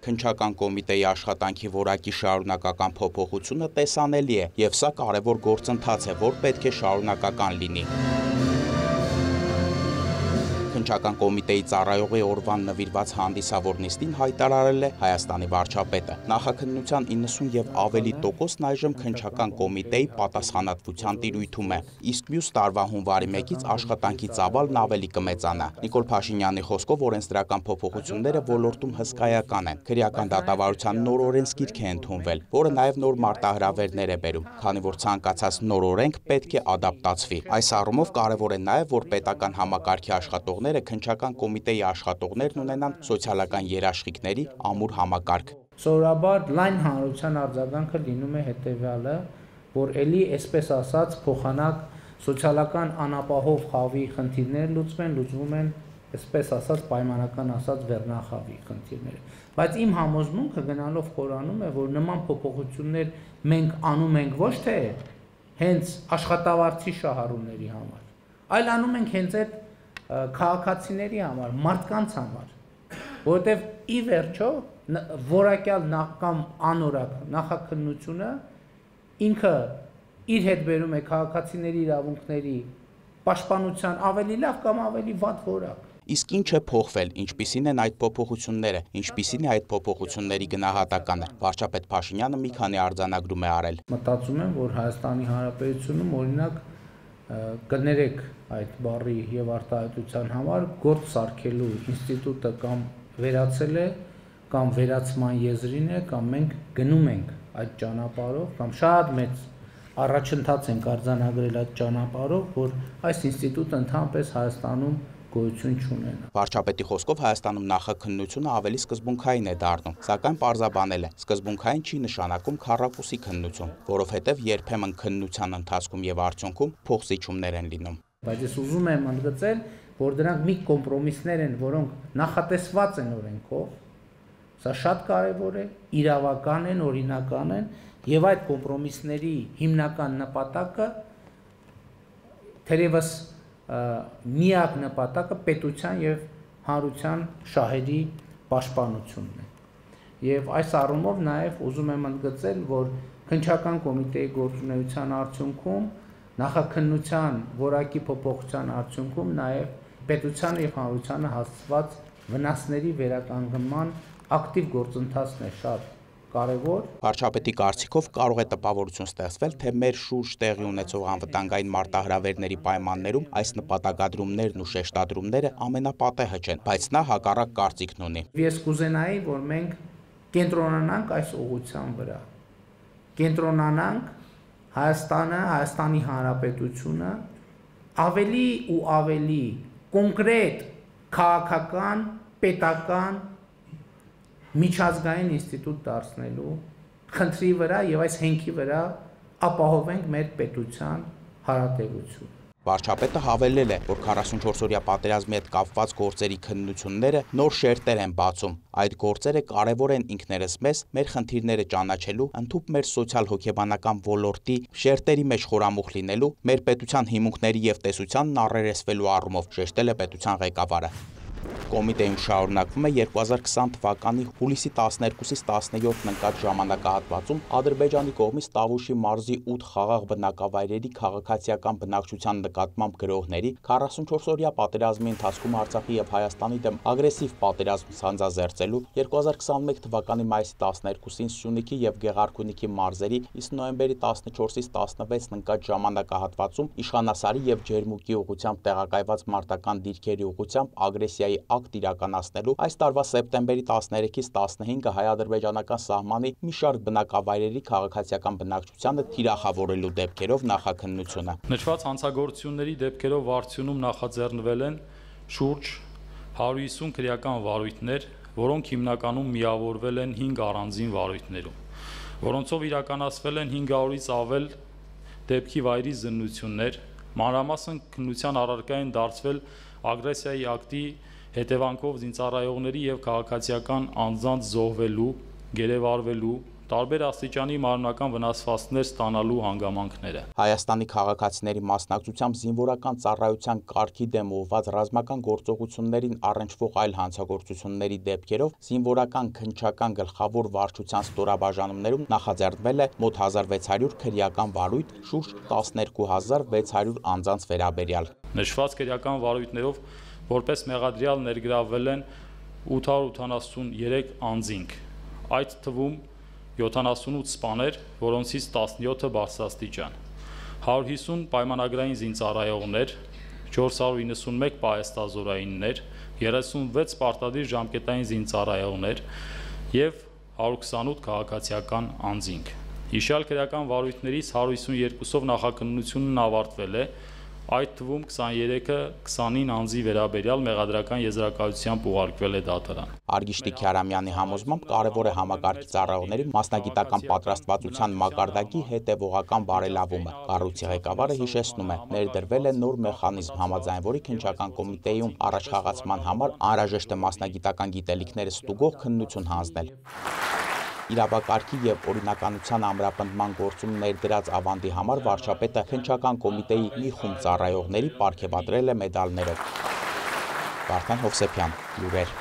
Քննչական կոմիտեի աշխատանքի որակի շարունակական փոփոխությունը տեսանելի է, եւ սա կարևոր գործընթաց է, որ պետք է շարունակական լինի։ Քննչական կոմիտեի ծառայողի օրվան նվիրված հանդիսավոր նիստին հայտարարել է Հայաստանի վարչապետը։ Նախաքննության 90 եւ ավելի տոկոսն այժմ քննչական կոմիտեի պատասխանատվության տիրույթում է, իսկ մյուս տարվա հունվարի 1-ից աշխատանքի ծավալն ավելի կմեծանա։ Նիկոլ Փաշինյանի խոսքով օրենսդրական փոփոխությունները ոլորտում հսկայական են։ Քրեական դատավարության նոր օրենսգիրք է ընդունվել, որը նաեւ նոր մարտահրավերներ է բերում, քանի որ ցանկացած նոր օրենք պետք է ադապտացվի։ Այս առումով կարևոր է նաեւ, որ պետական համակարգի աշխատողները քննչական կոմիտեի աշխատողներն ունենան սոցիալական երաշխիքների ամուր համակարգ։ Սովորաբար լայն հանրության արձագանքը լինում է հետևյալը, որ էլի այսպես ասած փոխանակ սոցիալական անապահով խավի խնդիրները լուծվում են, այսպես ասած պայմանական ասած վերնախավի խնդիրները։ Բայց իմ համոզմունքը գնալով խորանում է, որ նման փոփոխություններ մենք անում ենք ոչ թե հենց աշխատավարձի շահառուների համար, այլ անում ենք հենց այդ քաղաքացիների համար, մարդկանց համար, որովհետև ի վերջո որակյալ կամ անորակ նախաքննությունը ինքը իր հետ բերում է քաղաքացիների իրավունքների պաշտպանության ավելի լավ կամ ավելի վատ որակ։ Իսկ ինչ է փոխվել, ինչպիսին են այդ փոփոխությունները, ինչպիսին է այդ փոփոխությունների գնահատականը։ Վարչապետ Փաշինյանը մի քանի արձանագրում է արել։ Մտածում եմ, որ Հայաստանի Հանրապետությունում օրինակ կներեք այդ բառի եւ արտահայտության համար գործ սարքելու ինստիտուտը կամ վերացել է, կամ վերացման եզրին է, կամ մենք գնում ենք այդ ճանապարհով, կամ շատ մեծ առաջընթաց ենք արձանագրել այդ ճանապարհով, որ այս ինստիտուտը ընդհանրապես Հայաստանում գոյություն չունենա։ Վարչապետի խոսքով Հայաստանում նախաքննությունը ավելի սկզբունքային է դառնում, սակայն պարզաբանել է, սկզբունքային չի նշանակում քառակուսի քննություն, որովհետև երբեմն քննության ընթացքում եւ արդյունքում փոխզիջումներ են լինում։ Բայց ես ուզում եմ ընդգծել, որ դրանք մի կոմպրոմիսներ են, որոնք նախատեսված են օրենքով, սա շատ կարևոր է, իրավական են, օրինական են, եւ այդ կոմպրոմիսների հիմնական նպատակը թերևս միակ նպատակը պետության եւ հանրության շահերի պաշտպանությունն է։ Եվ այս առումով նաեւ ուզում եմ ընդգծել, որ քննչական կոմիտեի գործունեության արդյունքում նախաքննության որակի փոփոխության արդյունքում նաեւ պետության եւ հանրությանը հասցված վնասների վերականգնման ակտիվ գործընթացն է շատ կարևոր։ Վարչապետի կարծիքով կարող է տպավորություն ստեղծվել, թե մեր շուրջ տեղի ունեցող անվտանգային մարտահրավերների պայմաններում այս նպատակադրումներն ու շեշտադրումները ամենապատեհը չեն, բայց նա հակառակ կարծիքն ունի։ Ես կուզենայի, որ մենք կենտրոնանանք այս ուղղության վրա։ Կենտրոնանանք Հայաստանը, Հայաստանի Հանրապետությունը ավելի ու ավելի կոնկրետ քաղաքական, պետական միջազգային ինստիտուտ դարձնելու խնդրի վրա եւ այս հենքի վրա ապահովենք մեր պետության հարատեվությունը։ Վարչապետը հավելել է, որ 44-օրյա պատերազմի հետ կապված գործերի քննությունները նոր շերտեր են բացում։ Այդ գործերը կարևոր են ինքներս մեզ, մեր խնդիրները ճանաչելու, ընդհանուր մեր սոցիալ-հոգեբանական ոլորտի շերտերի մեջ խորամուխ լինելու, մեր պետության հիմունքների եւ տեսությանն առերեսվելու առումով, շեշտել է պետության ղեկավարը։ Կոմիտեում շարունակվում է 2020 թվականի հուլիսի 12-ից 17-ն ընկած ժամանակահատվածում Ադրբեջանի կողմից Տավուշի մարզի 8 խաղաղ բնակավայրերի քաղաքացիական բնակչության նկատմամբ գրողների 44-օրյա պատերազմի ընթացքում Արցախի եւ Հայաստանի դեմ ագրեսիվ պատերազմ սանձազերծելու 2021 թվականի մայիսի 12-ին Սյունիքի եւ Գեղարքունիքի մարզերի, իսկ նոյեմբերի 14-ից 16-ն ընկած ժամանակահատվածում Իշխանասարի եւ Ջերմուկի ուղղությամբ տեղակայված մարտական դիրքերի ուղղությամբ ագրեսիայի ակտ իրականացնելու այս տարվա սեպտեմբերի 13-ից 15-ը հայ-ադրբեջանական սահմանի մի շարք բնակավայրերի քաղաքացիական բնակչությանը թիրախավորելու դեպքերով նախաքննությունը։ Նշված հանցագործությունների դեպքերով վարչությունում նախաձեռնվել են շուրջ 150 քրեական վարույթներ, որոնք հիմնականում միավորվել են 5 առանձին վարույթներում, որոնցով իրականացվել են 500-ից ավել դեպքի վայրի զննություններ, մանրամասն քննության առարկա են դարձվել ագրեսիայի ակտի հետևանքով զինծառայողների եւ քաղաքացիական անձանց զոհվելու, գերեվարվելու, տարբեր աստիճանի մարմնական վնասվածքներ ստանալու հանգամանքները։ Հայաստանի քաղաքացիների մասնակցությամբ զինվորական ծառայության կարգի դեմ ուղղված ռազմական գործողություններին առնչվող այլ հանցագործությունների դեպքերով զինվորական քննչական գլխավոր վարչության ստորաբաժանումներում նախաձեռնվել է մոտ 1600 քրեական վարույթ, շուրջ 12600 անձանց վերաբերյալ։ Նշված քրեական վարույթներով որպես մեղադրյալ ներգրավվել են 883 անձինք, այդ թվում 78 սպաներ, որոնցից 17-ը բարձրաստիճան, 150 պայմանագրային զինծառայողներ, 491 պահեստազորայիններ, 36 պարտադիր ժամկետային զինծառայողներ և 128 քաղաքացիական անձինք։ Հիշյալ քրեական վարույթներից 152-ով նախաքննությունն ավարտվել է, այդ թվում 23-ը 29 անձի վերաբերյալ մեղադրական եզրակացությամբ ուղարկվել է դատարան։ Արգիշտի Քյարամյանի համոզմամբ կարևոր է համակարգի ծառայողների մասնագիտական պատրաստվածության մակարդակի հետևողական բարելավումը։ Կառույցի ղեկավարը հիշեցնում է, ներդրվել է նոր մեխանիզմ, համաձայն որի քննչական կոմիտեում առաջխաղացման համար անհրաժեշտ է մասնագիտական գիտելիքները ստուգող քննություն հանձնել։ Իրավակարգի եւ օրինականության ամրապնդման գործում ներդրած ավանդի համար վարչապետը քննչական կոմիտեի մի խումբ ծառայողների պարգևատրել է մեդալներով։ Վարդան Հովսեփյան, լուրեր։